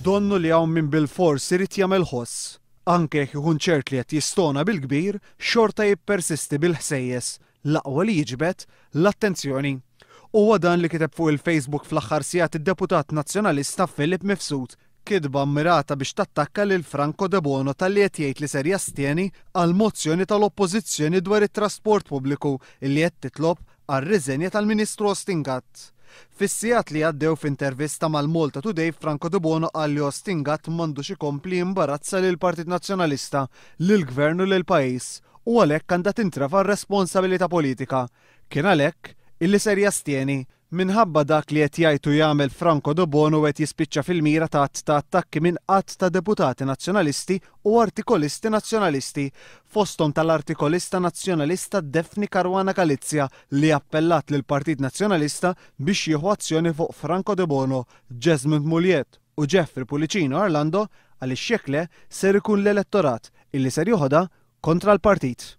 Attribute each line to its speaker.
Speaker 1: Donnu li hawn min bilfors irid jagħmel ħoss. Anke jekk ikun ċert li qed jistona bil-kbir, xorta jippersisti bil-ħsejjes, l-aqwa li jiġbed l-attenzjoni. Huwa dan li kiteb fuq il-Facebook fl-aħħar sigħat id-deputat Nazzjonalista Philip Mifsud, kitba mmirata biex tattakka lil Franco Debono talli qed jgħid li ser jastjeni għall-mozzjoni tal-Oppożizzjoni dwar it-trasport pubbliku li qed titlob għar-riżenja tal-Ministru Austin Gatt. Fis-sigħat li għaddew f'intervista mal-Malta Today Franco Debono qal li Austin Gatt m'għandux ikompli jimbarazza lill-Partit Nazzjonalista, lill-Gvern u lill-pajjiż u għalhekk għandha tintrefa' r-responsabilità politika. Kien għalhekk illi ser jastjeni. Minħabba dak li qed jgħid u jagħmel Franco Debono qed jispiċċa fil-mira ta' għadd ta' attakki minn għadd ta' deputati Nazzjonalisti u artikolisti Nazzjonalisti, fosthom tal-artikolista Nazzjonalista Daphne Caruana Galizia li appellat lill-Partit Nazzjonalista biex jieħu azzjoni fuq Franco Debono, Jesmond Mugliett u Jeffrey Pullicino Orlando għaliex jekk le ser ikun l-elettorat illi ser joħodha kontra l-partit.